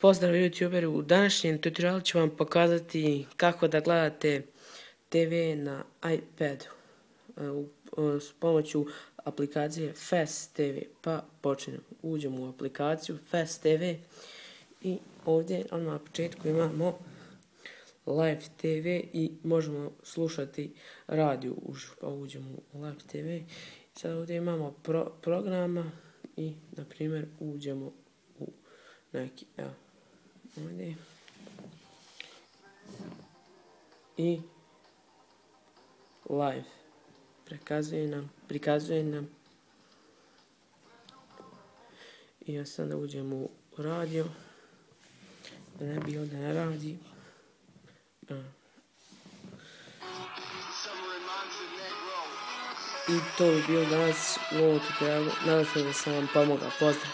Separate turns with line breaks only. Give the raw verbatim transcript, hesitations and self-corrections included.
Pozdrav youtuberi, u današnjem tutorialu ću vam pokazati kako da gledate te ve na iPadu s pomoću aplikacije Fast te ve. Pa počnemo, uđemo u aplikaciju Fast te ve i ovdje odmah na početku imamo Live te ve i možemo slušati radio uživo. Pa uđemo u Live te ve. Sad ovdje imamo pro, programa i na primjer uđemo u neki, evo, ovdje. I live prikazuje nam, prikazuje nam. I ja sada uđemo u radio. Da ne bi ovdje ne radi. A. I to bi bilo danas u ovom tutorialu. Nadam se da sam vam pomogao. Pozdrav!